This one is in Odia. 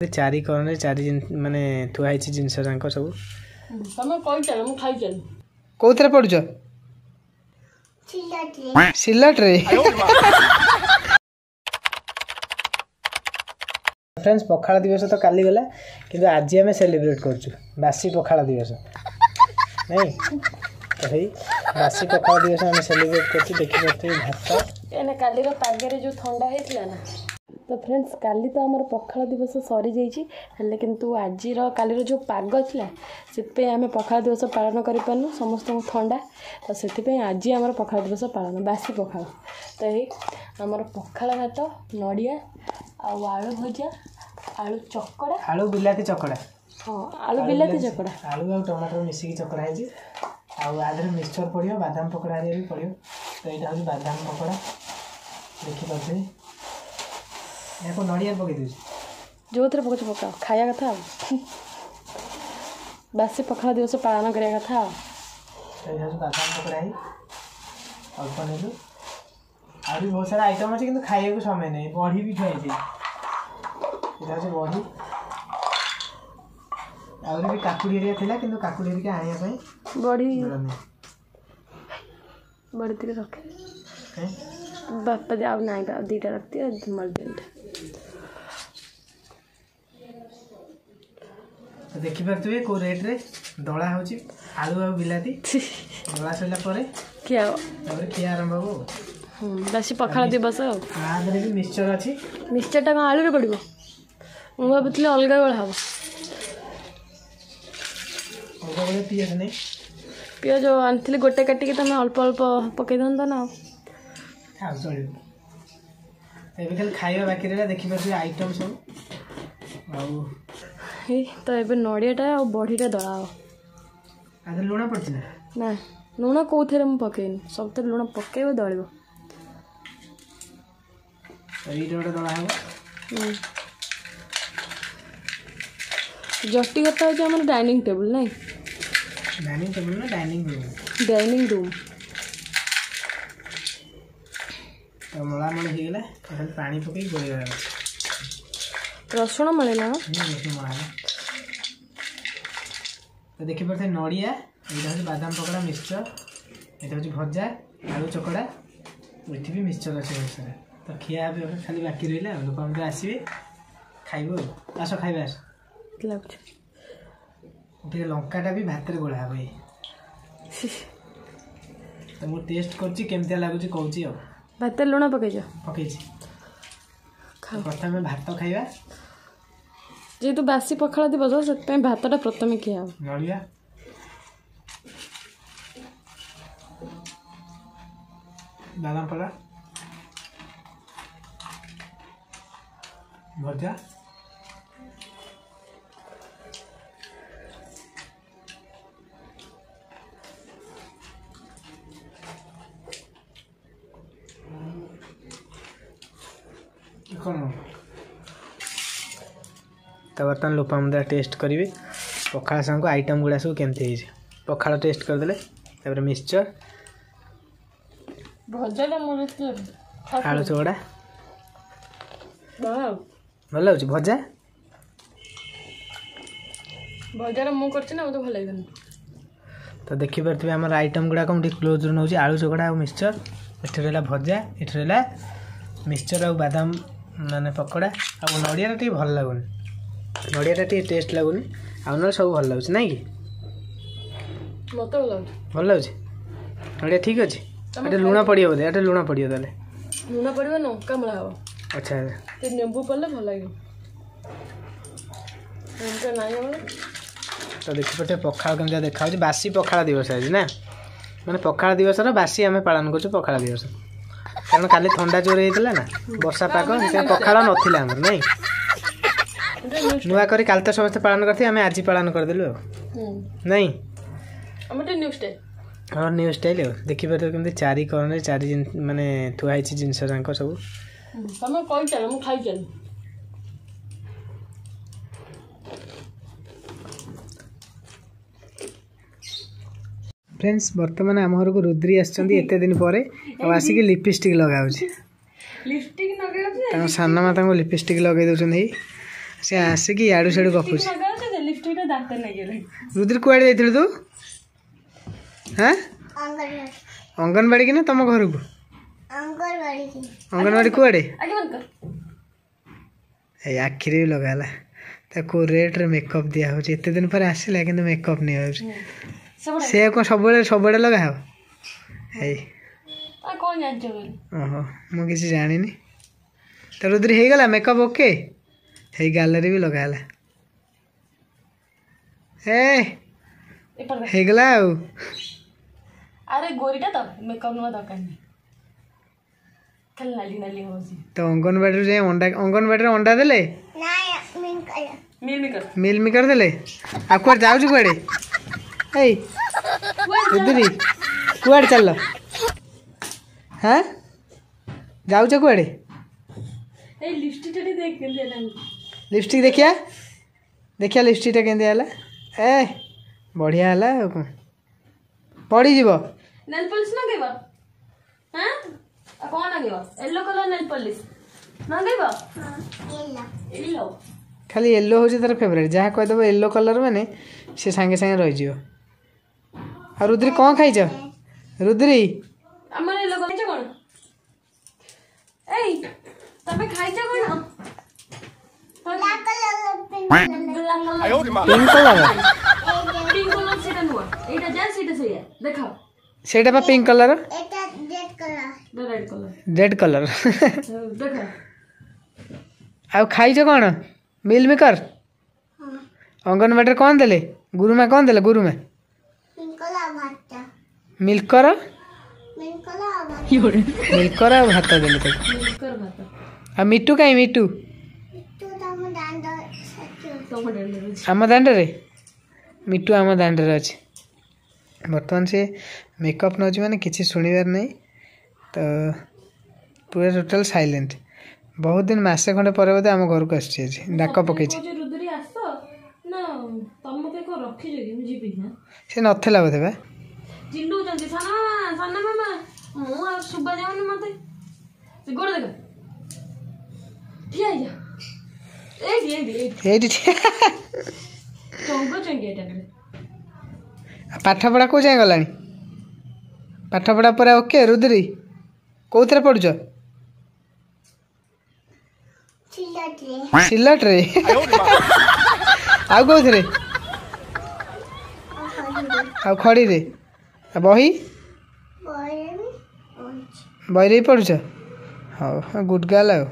ଚାରି କଣରେ ଚାରି ମାନେ ଥୁଆ ହେଇଛି ଜିନିଷ ଯାକ ସବୁ। ତମେ କହିଚାଲ, ମୁଁ ଖାଇଚାଲି। କୋଉଥିରେ ପଢୁଛ? ସିଲଟରେ। ଫ୍ରେଣ୍ଡସ୍, ପଖାଳ ଦିବସ ତ କାଲି ଗଲା, କିନ୍ତୁ ଆଜି ଆମେ ସେଲିବ୍ରେଟ୍ କରୁଛୁ ବାସି ପଖାଳ ଦିବସ। ନାଇଁ ତ ସେଇ ବାସି ପଖାଳ ଦିବସ ଆମେ ସେଲିବ୍ରେଟ୍ କରୁଛୁ। ଦେଖିପାରୁଥିବେ ଭାତ। କାହିଁକିନା କାଲିର ପାଗରେ ଯେଉଁ ଥଣ୍ଡା ହେଇଥିଲା ନା। ତ ଫ୍ରେଣ୍ଡସ୍, କାଲି ତ ଆମର ପଖାଳ ଦିବସ ସରିଯାଇଛି, ହେଲେ କିନ୍ତୁ ଆଜିର କାଲିର ଯେଉଁ ପାଗ ଥିଲା ସେଥିପାଇଁ ଆମେ ପଖାଳ ଦିବସ ପାଳନ କରିପାରିନୁ। ସମସ୍ତଙ୍କୁ ଥଣ୍ଡା, ତ ସେଥିପାଇଁ ଆଜି ଆମର ପଖାଳ ଦିବସ ପାଳନ, ବାସି ପଖାଳ। ତ ଏଇ ଆମର ପଖାଳ ଭାତ, ନଡ଼ିଆ ଆଉ ଆଳୁ ଭଜା, ଆଳୁ ଚକଡ଼ା, ଆଳୁ ବିଲାତି ଚକଡ଼ା। ହଁ, ଆଳୁ ବିଲାତି ଚକଡ଼ା, ଆଳୁ ଆଉ ଟମାଟର ମିଶିକି ଚକଡ଼ା ହେଇଛି। ଆଉ ଆ ଦେହରେ ମିକ୍ସଚର୍ ପଡ଼ିବ, ବାଦାମ ପକୋଡ଼ା ହେରିକା ବି ପଡ଼ିବ। ତ ଏଇଟା ହେଉଛି ବାଦାମ ପକୋଡ଼ା, ଦେଖିପାରୁଥିବେ। ଏହାକୁ ନଡ଼ିଆ ପକେଇ ଦେଉଛି। ଯେଉଁଥିରେ ପକଉଛ ପକାଅ, ଖାଇବା କଥା ଆଉ ବାସି ପଖାଳ ଦିବସ ପାଳନ କରିବା କଥା। ଆଉ ଏଇଟା ହେଉଛି ବାଦାମ ପକୋଡ଼ା, ହେଇ ଅଳ୍ପ ନେଲୁ। ଆହୁରି ବହୁତ ସାରା ଆଇଟମ୍ ଅଛି, କିନ୍ତୁ ଖାଇବାକୁ ସମୟ ନାହିଁ। ବଢ଼ି ବି ଥୁଆ ହେଇଛି, ଏଇଟା ହେଉଛି ବଢ଼ି। ଆହୁରି ବି କାକୁଡ଼ି ହେରିକା ଥିଲା, କିନ୍ତୁ କାକୁଡ଼ି ହେରିକା ଆଣିବା ପାଇଁ ବଢ଼ି ବଢ଼ି ଟିକେ ରଖେ ବାପା। ଆଉ ନାହିଁ, ଆଉ ଦୁଇଟା ରଖିଦିଅ, ମରିଦିଅନ୍ତା। ଦେଖିପାରୁଥିବେ କେଉଁ ରେଟ୍ରେ ଦଳା ହେଉଛି ଆଳୁ ଆଉ ବିଲାତି। ଦଳା ସରିଲା ପରେ ଖିଆ, ତାପରେ ଖିଆ ଆରମ୍ଭ ହବ। ବାସି ପଖାଳ ଦିବସ। ଆଉ ତା ଦେହରେ ବି ମିକ୍ସଚର ଅଛି। ମିକ୍ସଚରଟା କ'ଣ ଆଳୁରେ ପଡ଼ିବ? ମୁଁ ଭାବୁଥିଲି ଅଲଗା ଗୋଳା ହବ। ଅଲଗା ଗୋଳା ପିଆଜ ନେଇ, ପିଆଜ ଆଣିଥିଲି ଗୋଟେ କାଟିକି, ତମେ ଅଳ୍ପ ଅଳ୍ପ ପକେଇଥାନ୍ତ ନା। ଆଉ ଚଳିବ, ଏବେ ଖାଲି ଖାଇବା ବାକି ରହିଲା। ଦେଖିପାରୁଥିବେ ଆଇଟମ୍ ସବୁ। ଆଉ ଏଇ ତ ଏବେ ନଡ଼ିଆଟା ଆଉ ବଢ଼ିଟା ଦଳା ହବ। ଆଉ ଲୁଣ ପଡ଼ିଛି ନା? ନା, ଲୁଣ କେଉଁଥିରେ ମୁଁ ପକେଇନି। ସବୁଥିରେ ଲୁଣ ପକେଇବ, ଦଳିବ। ଏଇଟା ଗୋଟେ ଦଳା ହବ। ଜଟି କଥା ହେଉଛି ଆମର ଡାଇନିଂ ଟେବୁଲ୍। ନାଇଁ, ଡାଇନିଂ ଟେବୁଲ୍ ନା ଡାଇନିଂ ରୁମ୍? Dining room. ତ ମଳାମଳି ହେଇଗଲା, ଖାଲି ପାଣି ପକେଇ ଗୋଳେଇବାର ଅଛି। ରସୁଣ ମଳେଇଲା? ରସୁଣ ମଳା ହେଲା। ତ ଦେଖିପାରୁଥିବେ ନଡ଼ିଆ, ଏଇଟା ହେଉଛି ବାଦାମ ପକୋଡ଼ା, ମିକ୍ସଚର୍, ଏଇଟା ହେଉଛି ଭଜା, ଆଳୁ ଚକଡ଼ା, ଏଠି ବି ମିକ୍ସଚର୍ ଅଛି ବହୁତ ସାରା। ତ ଖିଆ ଏବେ ଖାଲି ବାକି ରହିଲା, ଆଉ ଲୋକମାନେ ଆସିବେ, ଖାଇବୁ। ଆଉ ଆସ ଖାଇବା, ଆସ। ଲାଗୁଛି ଟିକେ ଲଙ୍କାଟା ବି ଭାତରେ ଗୋଳା ହବ ଏଇ। ତ ମୁଁ ଟେଷ୍ଟ କରୁଛି, କେମିତିଆ ଲାଗୁଛି କହୁଛି। ଆଉ ଭାତରେ ଲୁଣ ପକେଇଛ? ପକେଇଛି। ପ୍ରଥମେ ଭାତ ଖାଇବା। ଯେହେତୁ ବାସି ପଖାଳ ଦିବସ, ସେଥିପାଇଁ ଭାତଟା ପ୍ରଥମେ ଖିଆ ହବ। ନଡ଼ିଆ, ବାଦାମ ପଡ଼ା, ଭଜା। କ'ଣ ତ ବର୍ତ୍ତମାନ ଲୋପାମୁଦ୍ରା ଟେଷ୍ଟ କରିବେ ପଖାଳ ସାଙ୍ଗକୁ ଆଇଟମ୍ ଗୁଡ଼ା ସବୁ କେମିତି ହେଇଛି। ପଖାଳ ଟେଷ୍ଟ କରିଦେଲେ, ତାପରେ ମିକ୍ସଚର୍, ଭଜାଟା, ଆଳୁ ଚକଡ଼ା ଭଲ ଲାଗୁଛି। ଭଜା ଭଜାଟା ମୁଁ କରିଛି ନା, ମୋତେ ଭଲ ଲାଗିବନି? ତ ଦେଖିପାରୁଥିବେ ଆମର ଆଇଟମ୍ ଗୁଡ଼ାକ, ମୁଁ ଟିକେ କ୍ଲୋଜ୍ରୁ ନେଉଛି। ଆଳୁ ଚକଡ଼ା ଆଉ ମିକ୍ସଚର୍, ଏଠି ରହିଲା ଭଜା, ଏଠି ରହିଲା ମିକ୍ସଚର୍ ଆଉ ବାଦାମ ମାନେ ପକୋଡ଼ା। ଆଉ ନଡ଼ିଆଟା ଟିକେ ଭଲ ଲାଗୁନି, ନଡ଼ିଆଟା ଟିକେ ଟେଷ୍ଟ ଲାଗୁନି, ଆଉ ନହେଲେ ସବୁ ଭଲ ଲାଗୁଛି। ନାଇଁ କି? ମୋତେ ଭଲ ଲାଗୁଛି। ଭଲ ଲାଗୁଛି, ନଡ଼ିଆ ଠିକ୍ ଅଛି। ଏଟା ଲୁଣ ପଡ଼ିବ ବୋଧେ? ଏଟା ଲୁଣ ପଡ଼ିବ ତାହେଲେ। ଲୁଣ ପଡ଼ିବ, ଲଙ୍କା ମଳା ହବ। ଆଚ୍ଛା। ନେମ୍ବୁ ପଡ଼ିଲେ ଭଲ ଲାଗିବ, ଲଙ୍କା ନାହିଁ ଆମର। ତ ଦେଖିପାରୁଥିବେ ପଖାଳ କେମିତିଆ ଦେଖାହେଉଛି। ବାସି ପଖାଳ ଦିବସ ଆଜି ନା, ମାନେ ପଖାଳ ଦିବସର ବାସି ଆମେ ପାଳନ କରୁଛୁ ପଖାଳ ଦିବସ, କାରଣ କାଲି ଥଣ୍ଡା ଜୋର ହେଇଥିଲା ନା, ବର୍ଷା ପାଗ, ସେଥିପାଇଁ ପଖାଳ ନଥିଲା ଆମର। ନାଇଁ, ନୂଆ କରି କାଲି ତ ସମସ୍ତେ ପାଳନ କରିଥିବେ, ଆମେ ଆଜି ପାଳନ କରିଦେଲୁ। ଆଉ ନାଇଁ, ହଁ, ନ୍ୟୁ ଷ୍ଟାଇଲ୍। ଆଉ ଦେଖିପାରୁଥିବେ କେମିତି ଚାରି କଣରେ ଚାରି ମାନେ ଥୁଆ ହେଇଛି ଜିନିଷ ଯାକ ସବୁ। ତମେ କହିଚାଲ, ମୁଁ ଖାଇଚାଲି। ଫ୍ରେଣ୍ଡସ୍, ବର୍ତ୍ତମାନ ଆମ ଘରକୁ ରୁଦ୍ରି ଆସିଛନ୍ତି ଏତେ ଦିନ ପରେ, ଆଉ ଆସିକି ଲିପଷ୍ଟିକ୍ ଲଗାଉଛି। ଲିପଷ୍ଟିକ୍? ତାଙ୍କ ସାନ ମା ତାଙ୍କୁ ଲିପଷ୍ଟିକ୍ ଲଗେଇ ଦେଉଛନ୍ତି। ସେ ଆସିକି ଇଆଡ଼ୁ ସିଆଡ଼ୁ ଗପୁଛି। ରୁଦ୍ରି କୁଆଡ଼େ ଯାଇଥିଲୁ ତୁ? ହଁ, ଅଙ୍ଗନବାଡ଼ି କି ନା ତମ ଘରକୁ? ଅଙ୍ଗନବାଡ଼ି କୁଆଡ଼େ? ଏଇ ଆଖିରେ ବି ଲଗା ହେଲା। ତାକୁ ରେଟ୍ରେ ମେକଅପ୍ ଦିଆହେଉଛି। ଏତେ ଦିନ ପରେ ଆସିଲା କିନ୍ତୁ ମେକଅପ୍ ନିଆଯାଉଛି। ସେ କ'ଣ ସବୁବେଳେ ସବୁଆଡ଼େ ଲଗା ହେବ? ଏଇ ଓହୋ, ମୁଁ କିଛି ଜାଣିନି। ତ ରୁଦ୍ରି ହେଇଗଲା ମେକଅପ୍ ଓକେ। ହେଇ ଗାଲରେ ବି ଲଗା ହେଲା। ଏ ହେଇଗଲା ଆଉ। ଆରେ ଗୋରିଟା ତ ମେକଅପ୍ ନୂଆ ଦରକାର ନାହିଁ, ଖାଲି ନାଲି ନାଲି ହଉଛି। ତ ଅଙ୍ଗନବାଡ଼ିରୁ ଯାଇ ଅଣ୍ଡା, ଅଙ୍ଗନବାଡ଼ିରେ ଅଣ୍ଡା ଦେଲେ, ମିଲ୍ ମିକର ଦେଲେ। ଆଉ କୁଆଡ଼େ ଯାଉଛୁ କୁଆଡ଼େ? ଏଇ ରୁଦ୍ରି କୁଆଡ଼େ ଚାଲିଲ? ହଁ, ଯାଉଛ କୁଆଡ଼େ? ଲିପଷ୍ଟିକ୍ ଦେଖିଆ, ଦେଖିଆ ଲିପଷ୍ଟିକ୍ଟା କେମିତି ହେଲା। ଏ ବଢ଼ିଆ ହେଲା। ଆଉ କ'ଣ ପଡ଼ିଯିବ? ନେଲ୍ ପଲିସ୍ ଲଗେଇବ? ହଁ, ଆଉ କ'ଣ ଲଗେଇବ? ୟେଲୋ କଲର୍ ନେଲ୍ ପଲିସ୍ ଲଗେଇବ? ୟେଲୋ। ଖାଲି ୟେଲୋ ହେଉଛି ତାର ଫେଭରାଇଟ୍। ଯାହା କହିଦେବ ୟେଲୋ କଲର୍ ମାନେ ସେ ସାଙ୍ଗେ ସାଙ୍ଗେ ରହିଯିବ। ଆଉ ରୁଦ୍ରି କ'ଣ ଖାଇଛ? ରୁଦ୍ରି ଆମର ୟେଲୋ ଖାଇଛ କ'ଣ? ଏଇ ତମେ ଖାଇଛ କ'ଣ? Pink colour. Pink colour ସେଟା ନୁହଁ, ଏଇଟା ଯା ସେଇଟା ସେଇଆ ଦେଖ। ସେଇଟା ବା pink colour, red colour, red colour ଦେଖ। ଆଉ ଖାଇଛ କ'ଣ? ମିଲ୍ ମେକର ଅଙ୍ଗନବାଡ଼ିରେ କ'ଣ ଦେଲେ? ଗୁରୁମା କ'ଣ ଦେଲେ? ଗୁରୁମା ମିଲ୍କର, ମିଲ୍କର ଆଉ ଭାତ ଦେଲେ ତାକୁ। ଆଉ ମିଟୁ କାଇଁ? ମିଟୁ ଆମ ଦାଣ୍ଡରେ, ମିଟୁ ଆମ ଦାଣ୍ଡରେ ଅଛି। ବର୍ତ୍ତମାନ ସେ ମେକଅପ୍ ନେଉଛି ମାନେ କିଛି ଶୁଣିବାର ନାହିଁ, ତ ପୁରା ଟୋଟାଲ୍ ସାଇଲେଣ୍ଟ। ବହୁତ ଦିନ, ମାସେ ଖଣ୍ଡେ ପରେ ବୋଧେ ଆମ ଘରକୁ ଆସୁଛି। ଆଜି ଡାକ ପକେଇଛି। ସେ ନଥିଲା ବୋଧେ ବା। ଚିଲଉଛନ୍ତି ସାନ ମାମା, ସାନ ମାମା, ମୁଁ ଆଉ ଶୁଭା ଯାଉନି ମତେ। ସେ ଗୋଡ଼ ଦେଖ, ଠିଆ ହେଇଯା ଏଇଠି ଏଇଠି ଏଇଠି। ଚଙ୍ଗ ଚଙ୍ଗି ଏଇଟା। ପାଠପଢ଼ା କେଉଁ ଯାଏଁ ଗଲାଣି? ପାଠପଢ଼ା ପୁରା ଓକେ? ରୁଦ୍ରି କେଉଁଥିରେ ପଢ଼ୁଛ? ସିଲଟରେ। ଆଉ କେଉଁଥିରେ? ଆଉ ଖଡ଼ିରେ। ଆଉ ବହି? ବହିରେ ବି ପଢ଼ୁଛ? ହଉ, ଗୁଡ୍ ଗାର୍ଲ। ଆଉ